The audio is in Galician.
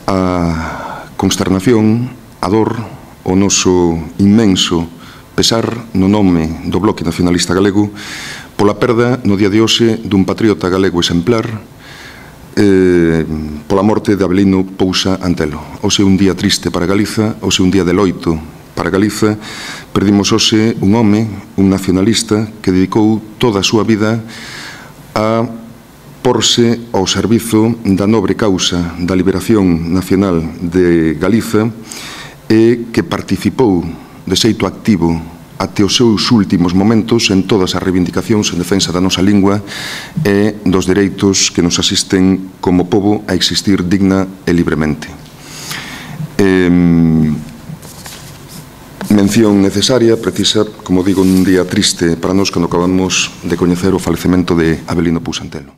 a consternación, a dor, o noso inmenso pesar no nome do Bloque Nacionalista Galego pola perda no día de hoxe dun patriota galego exemplar, pola morte de Avelino Pousa Antelo. Hoxe un día triste para Galiza, hoxe un día de loito para Galiza. Perdimos hoxe un home, un nacionalista, que dedicou toda a súa vida a porse ao servizo da nobre causa da liberación nacional de Galiza e que participou de xeito activo até os seus últimos momentos en todas as reivindicacións en defensa da nosa lingua e dos dereitos que nos asisten como pobo a existir digna e libremente. Mención necesaria, precisa, como digo, un día triste para nós cando acabamos de coñecer o falecemento de Avelino Pousa Antelo.